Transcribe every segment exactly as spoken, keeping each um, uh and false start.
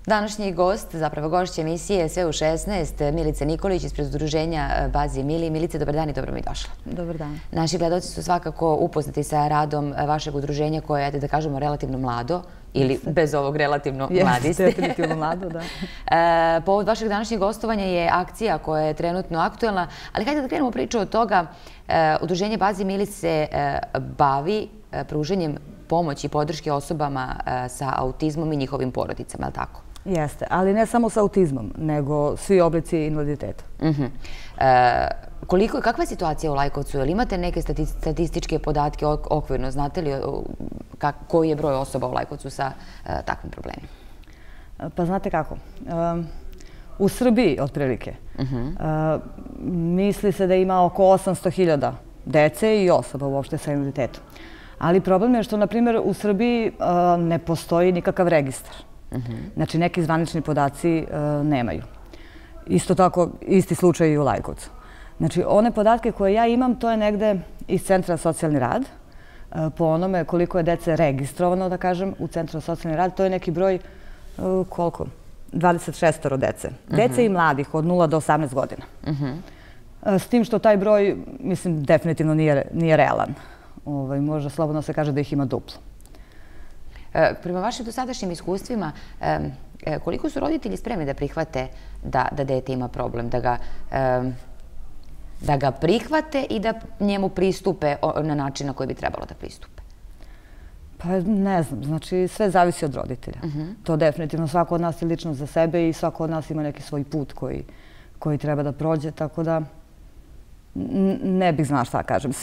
Današnji gost, zapravo gošća emisije Sve u šesnaest, Milica Nikolić ispred udruženja Bazi Mili. Milice, dobar dan i dobro mi došla. Dobar dan. Naši gledalci su svakako upoznati sa radom vašeg udruženja koje je, da kažemo, relativno mlado ili bez ovog relativno mladi ste. Jeste, definitivno mlado, da. Povod vašeg današnjeg gostovanja je akcija koja je trenutno aktuelna, ali hajde da krenemo priču od toga. Udruženje Bazi Mili se bavi pruženjem pomoći i podrške osobama sa autizmom i njihovim porodicama, je li tako? Jeste, ali ne samo sa autizmom, nego svi oblici invaliditeta. Koliko, kakva je situacija u Lajkovcu? Jel imate neke statističke podatke okvirno? Znate li koji je broj osoba u Lajkovcu sa takvim problemima? Pa znate kako, u Srbiji otprilike misli se da ima oko osamsto hiljada dece i osoba uopšte sa invaliditetom. Ali problem je što, na primjer, u Srbiji ne postoji nikakav registar. Znači, neki zvanični podaci nemaju. Isto tako, isti slučaj i u Lajkovcu. Znači, one podatke koje ja imam, to je negde iz Centra za socijalni rad. Po onome koliko je dece registrovano, da kažem, u Centru za socijalni rad, to je neki broj, koliko? dvadeset šest dece. Dece i mladih od nula do osamnaest godina. S tim što taj broj, mislim, definitivno nije realan. Možda slobodno se kaže da ih ima duplo. Prema vašim dosadašnjim iskustvima, koliko su roditelji spremni da prihvate da dete ima problem, da ga prihvate i da njemu pristupe na način na koji bi trebalo da pristupe? Pa ne znam, znači sve zavisi od roditelja. To definitivno svako od nas je lično za sebe i svako od nas ima neki svoj put koji treba da prođe, tako da ne bih znala šta kažem.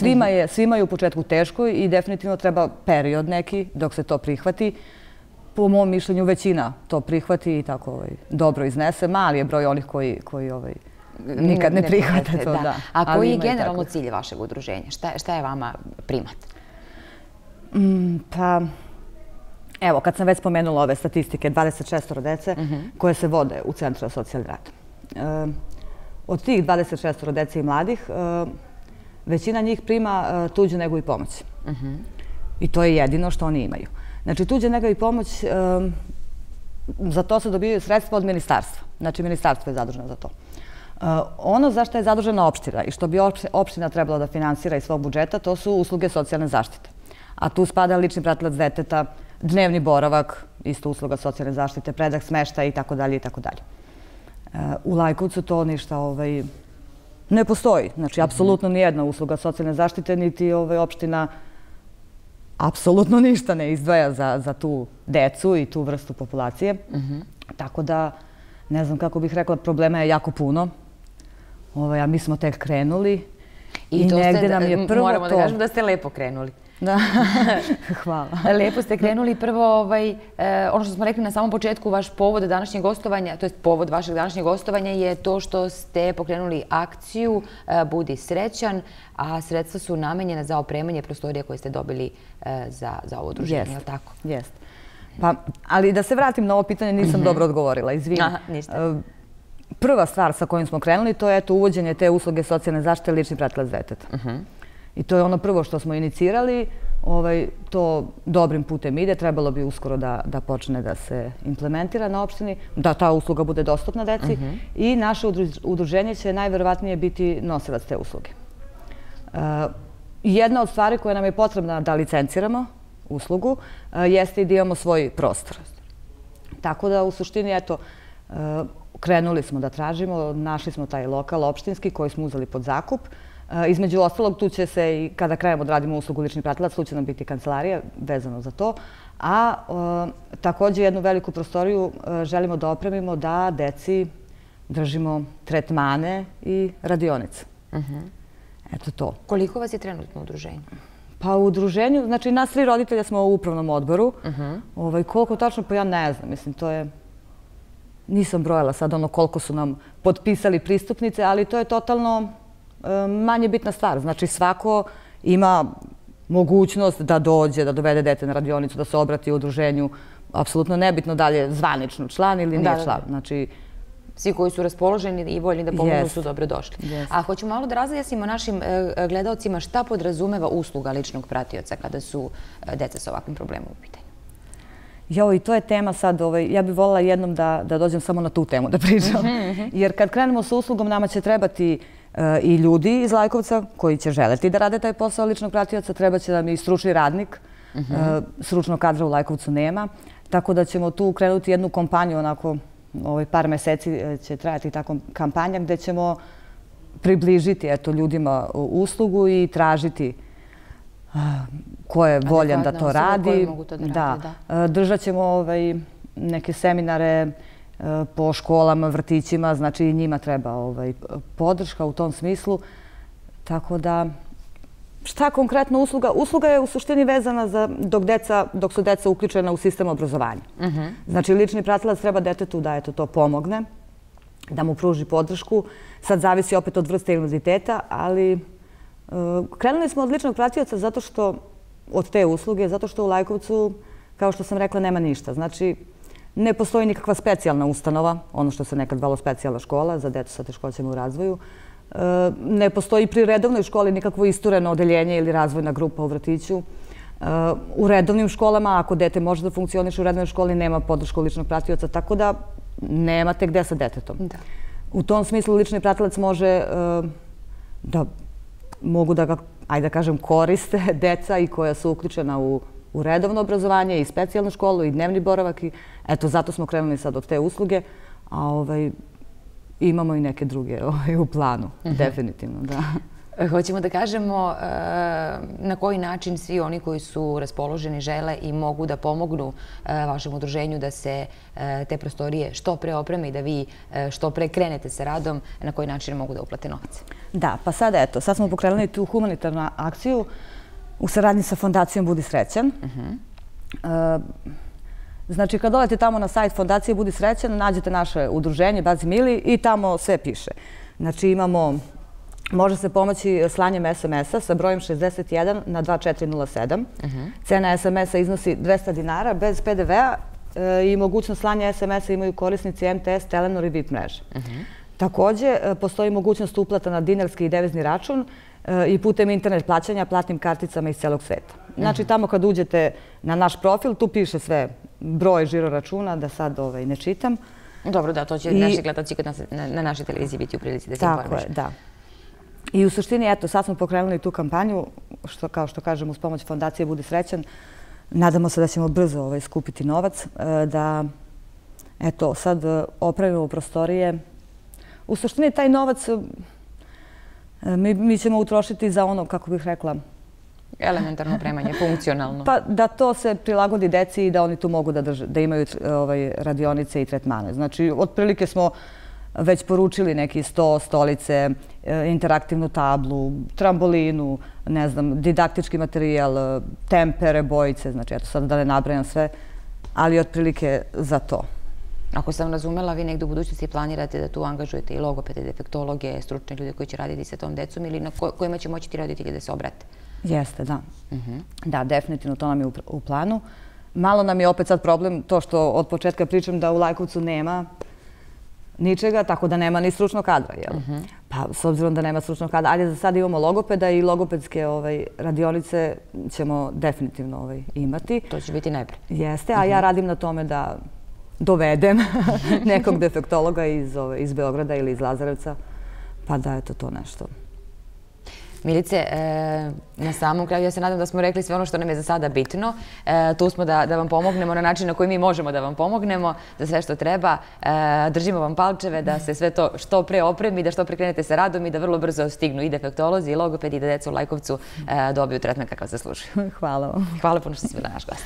Svima je u početku teško i definitivno treba period neki dok se to prihvati. Po mom mišljenju većina to prihvati i tako dobro iznese. Mali je broj onih koji nikad ne prihvate to. A koji je generalno cilj vašeg udruženja? Šta je vama primat? Pa, evo, kad sam već spomenula ove statistike, dvadeset šest dece koje se vode u Centru za socijalni rad. Od tih dvadeset šest dece i mladih, većina njih prima tuđu negu i pomoć. I to je jedino što oni imaju. Znači, tuđa nega i pomoć, za to se dobijaju sredstva od ministarstva. Znači, ministarstvo je zaduženo za to. Ono za što je zadužena opština i što bi opština trebala da finansira iz svog budžeta, to su usluge socijalne zaštite. A tu spada lični pratilac deteta, dnevni boravak, isto usluga socijalne zaštite, predah smeštaja i tako dalje i tako dalje. U Lajkovcu to ništa ne postoji. Znači, apsolutno nijedna usluga socijalne zaštite, niti opština apsolutno ništa ne izdvaja za tu decu i tu vrstu populacije. Tako da, ne znam kako bih rekla, problema je jako puno. A mi smo tek krenuli i negde nam je prvo to... Moramo da kažemo da ste lepo krenuli. Da, hvala. Lepo ste krenuli. Prvo, ono što smo rekli na samom početku, vaš povod današnjeg gostovanja, to je povod vašeg današnjeg gostovanja je to što ste pokrenuli akciju Budi srećan, a sredstva su namenjena za opremanje prostorija koje ste dobili za ovo udruženje, je li tako? Jeste. Ali da se vratim na ovo pitanje, nisam dobro odgovorila, izvinim. Ništa. Prva stvar sa kojim smo krenuli, to je uvođenje te usluge socijalne zaštite lični pratilac deteta. I to je ono prvo što smo inicirali, to dobrim putem ide, trebalo bi uskoro da počne da se implementira na opštini, da ta usluga bude dostupna deci i naše udruženje će najverovatnije biti nosilac te usluge. Jedna od stvari koja nam je potrebna da licenciramo uslugu jeste i da imamo svoj prostor. Tako da u suštini, eto, krenuli smo da tražimo, našli smo taj lokal opštinski koji smo uzeli pod zakup. Između ostalog, tu će se i kada krenemo da radimo uslugu lični pratilac, tu će nam biti kancelarija vezano za to. A također jednu veliku prostoriju želimo da opremimo da deci držimo tretmane i radionice. Eto to. Koliko vas je trenutno u udruženju? Pa u udruženju, znači nas tri roditelja smo u upravnom odboru. Koliko tačno, pa ja ne znam, mislim, to je... Nisam brojala sad ono koliko su nam potpisali pristupnice, ali to je totalno manje bitna stvar. Znači svako ima mogućnost da dođe, da dovede dete na radionicu, da se obrati u udruženju. Apsolutno nebitno da li je zvanično član ili nije član. Znači, svi koji su raspoloženi i voljni da pomognu su dobro došli. A hoću malo da razjasnimo našim gledalcima šta podrazumeva usluga ličnog pratioca kada su deca sa ovakvim problemom u pitanju. Jo, i to je tema sad, ja bih voljela jednom da dođem samo na tu temu da pričam. Jer kad krenemo sa uslugom, nama će trebati i ljudi iz Lajkovca koji će želeti da rade taj posao ličnog pratioca, treba će nam i stručni radnik, stručnog kadra u Lajkovcu nema, tako da ćemo tu krenuti jednu kampanju, onako par meseci će trajati ta kampanja gde ćemo približiti ljudima uslugu i tražiti ko je voljan da to radi. Držat ćemo neke seminare po školama, vrtićima, znači i njima treba podrška u tom smislu. Tako da, šta konkretno usluga? Usluga je u suštini vezana dok su deca uključena u sistem obrazovanja. Znači, lični pratilac treba detetu da to pomogne, da mu pruži podršku. Sad zavisi opet od vrste invaliditeta, ali krenuli smo od ličnog pratioca zato što, od te usluge, zato što u Lajkovcu, kao što sam rekla, nema ništa. Znači, ne postoji nikakva specijalna ustanova, ono što se nekad zvalo specijalna škola za decu sa teškoćama u razvoju. Ne postoji pri redovnoj školi nikakvo istureno odeljenje ili razvojna grupa u vrtiću. U redovnim školama, ako dete može da funkcioniše u redovnoj školi, nema podršku ličnog pratioca, tako da nemate gde sa detetom. U tom smislu lični pratilac može da mogu da ga, ajde da kažem, koriste deca i koja su uključena u u redovno obrazovanje i specijalnu školu i dnevni boravak. Eto, zato smo krenuli sad od te usluge, a imamo i neke druge u planu, definitivno, da. Hoćemo da kažemo na koji način svi oni koji su raspoloženi, žele i mogu da pomognu vašem udruženju da se te prostorije što pre opreme i da vi što pre krenete sa radom, na koji način mogu da uplate novac? Da, pa sad eto, sad smo pokrenuli tu humanitarnu akciju u saradnji sa Fondacijom Budi srećan. Znači, kad dolete tamo na sajt Fondacije Budi srećan, nađete naše udruženje Bazi Mili i tamo sve piše. Znači, imamo, može se pomoći slanjem es em es a sa brojem šezdeset jedan na dva četiri nula sedam. Cena es em es a iznosi dvesta dinara bez pe de ve a i mogućnost slanja es em es a imaju korisnici em te es, Telenor i VIP mreže. Takođe, postoji mogućnost uplata na dinarski i devizni račun i putem internet plaćanja platnim karticama iz celog sveta. Znači, tamo kad uđete na naš profil, tu piše sve broj žiro računa, da sad ne čitam. Dobro, da, to će naši gledalci na našoj televiziji biti u prilici da se informišu. Tako je, da. I u suštini, eto, sad smo pokrenuli tu kampanju, kao što kažem, uz pomoć Fondacije Budi srećan. Nadamo se da ćemo brzo skupiti novac, da, eto, sad opravimo prostorije. U suštini, taj novac mi ćemo utrošiti za ono, kako bih rekla, elementarno opremanje, funkcionalno. Pa da to se prilagodi deci i da oni tu mogu da imaju radionice i tretmane. Znači, otprilike smo već poručili neki sto, stolice, interaktivnu tablu, trambolinu, ne znam, didaktički materijal, tempere, bojice, znači, eto sad da ne nabrajam sve, ali otprilike za to. Ako sam razumela, vi negdje u budućnosti planirate da tu angažujete i logopede, defektologe, stručne ljude koji će raditi sa tom decom ili na kojima će moći ti roditelji da se obrate? Jeste, da. Da, definitivno to nam je u planu. Malo nam je opet sad problem to što od početka pričam da u Lajkovcu nema ničega, tako da nema ni stručnog kadra. Pa, s obzirom da nema stručnog kadra, ali za sad imamo logopeda i logopedske radionice ćemo definitivno imati. To će biti najpre. Jeste, a ja radim na tome da dovedem nekog defektologa iz Beograda ili iz Lazarevca, pa da je to to nešto. Milice, na samom kraju ja se nadam da smo rekli sve ono što nam je za sada bitno. Tu smo da vam pomognemo na način na koji mi možemo da vam pomognemo za sve što treba. Držimo vam palčeve da se sve to što pre opremi, da što pre krenete sa radom i da vrlo brzo stignu i defektolozi i logopedi i da deca u Lajkovcu dobiju tretman kakav zaslužuju. Hvala vam. Hvala puno što si bila naš gost.